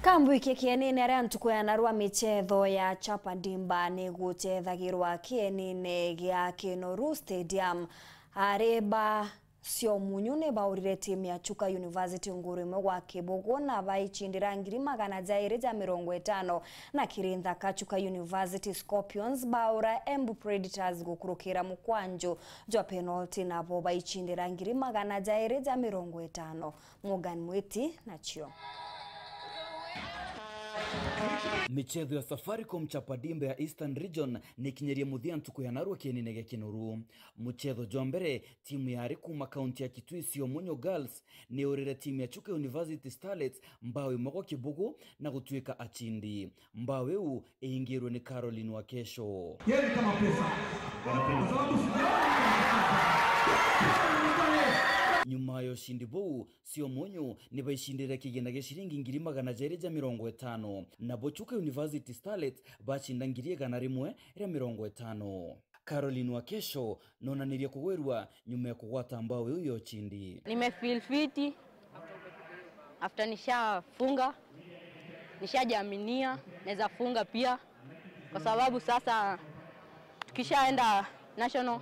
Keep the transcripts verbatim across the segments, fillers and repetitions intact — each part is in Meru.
Kambwike kienine aria ntuku ya narua michetho ya Chapa Dimba ni guchethagirwa kienine gia Kinoru Stadium. Ari ba Cio Munyu ni baurire timu ya Chuka University nguru imwe gwa kibugu na baichindira ngiri magana jairi ja mirongo itano, na kiri nthaka Chuka University Scorpions baura Embu Predators gukurukira mukwanju jwa penalty, nabo baichindira ngiri magana jairi ja mirongo itano. Morgan Mwiti nacio. Michetho ya Safaricom Chapa Dimba ya Eastern Region nikinyirie muthia ntuku ya narua kienine gia Kinoru. Muchetho jwa mbere, timu yari kuma kaunti ya Kitui, Cio Munyu Girls, niurire timu ya Chuka University Starlets mbao imwe gwa kibugu na gutuika achindi. Mbao iu iingirwe ni Caroline Wakesho. Yeye ni kama pesa. Kwa sababu sijaona. Nyuma ya ushindi buu, Cio Munyu ni baicindire kigina gia ciringi ngiri magana jairi ja mirongo itano, nabo Chuka University Starlets bacinda ngiri igana rimwe ria mirongo itano. Caroline Wakesho nonanirie kugwirua nyuma ya kugwata mbao iu ya ushindi. Nime feel fiti after nishafunga, nishajiaminia naweza funga pia, kwa sababu sasa tukishaenda national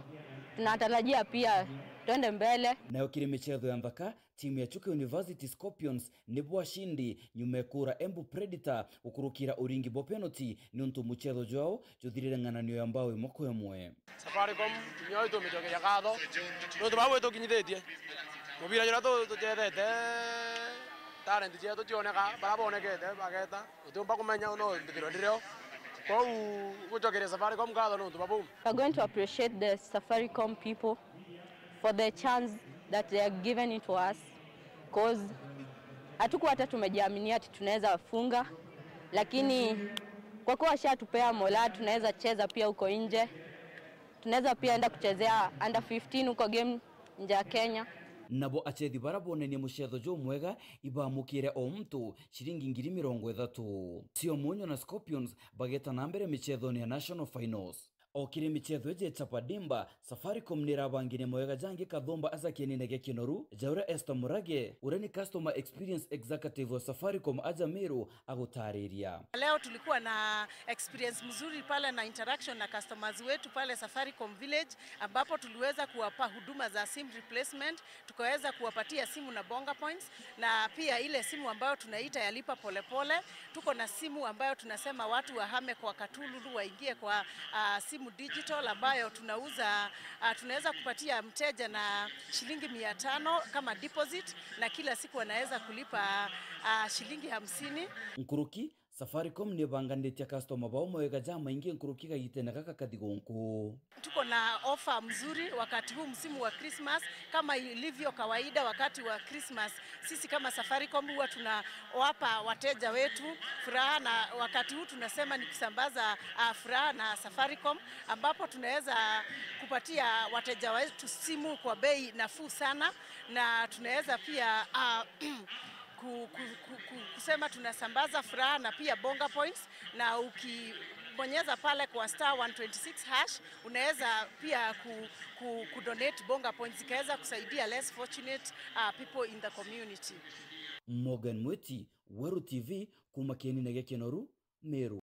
tunatarajia pia twende mbele. Nayo kiri michetho ya nthaka, timu ya Chuka University Scorpions nibo ashindi nyuma ya kuura Embu Predator gukurukira uringi bwa penalty, niuntu muchetho jwao juthirire ng'ananio ya mbao imwe kwa imwe. Safaricom, nio itumicokeria ngatho niuntu bau itukinyithitie. Mubira juria tu-, tuchethete, talent cietu cioneka, baria bonekete bageta, utiumba kumenya no mbithirwe ndirio. Kwou gucokeria Safaricom ngatho niuntu bwa buu. We are going to appreciate the Safaricom people for the chance that they are given it to us, cause hatukuwa hata tumejiaminia ati tunaweza funga, lakini kwa kuwa washatupea mola, tunaweza cheza pia huko nje, tunaweza pia enda kuchezea under fifteen huko game nje ya Kenya. Nabo achethi baria bonenie muchetho jumwega ibamukire o muntu ciringi ngiri mirongo ithatu. Cio Munyu na Scorpions bageta na mbere michethone ya national finals. O kiri michetho iji ya Chapa Dimba, Safaricom nirabangirie mawega jangi kathumba aja kienine gia Kinoru, ja uria Esther Murage, uria ni Customer Experience Executive wa Safaricom aja Meru, agutariria. Leo tulikuwa na experience mzuri pale na interaction na customers wetu pale Safaricom Village, ambapo tuliweza kuwapa huduma za SIM replacement, tukaweza kuwapatia simu na bonga points, na pia ile simu ambayo tunaita ya lipa polepole. Tuko na simu ambayo tunasema watu wahame kwa Katululu waingie kwa, ah, simu digital ambayo tunauza, ah, tunaweza kupatia mteja na shilingi mia tano kama deposit, na kila siku anaweza kulipa, ah, shilingi hamsini. Nkuruki, Safaricom nibanganitie customer bao mawega jamaingi nkuruki kagitene gaka kathi gunku. Tuko na offer mzuri wakati huu msimu wa Christmas. Kama ilivyo kawaida wakati wa Christmas, sisi kama Safaricom huwa tunawapa wateja wetu furaha, na wakati huu tunasema ni kusambaza, ah, furaha na Safaricom, ambapo tunaweza kupatia wateja wetu simu kwa bei nafuu sana, na tunaweza pia, ah, ku-, ku-, ku-, ku-, kusema tunasambaza furaha na pia bonga points, na ukibonyeza pale kwa star one twenty six hash, unaweza pia ku-, ku-, kudonate bonga points, ikaweza kusaidia less fortunate, uh, people in the community. Morgan Mwiti, Weru T V, kuma kienine gia Kinoru, Meru.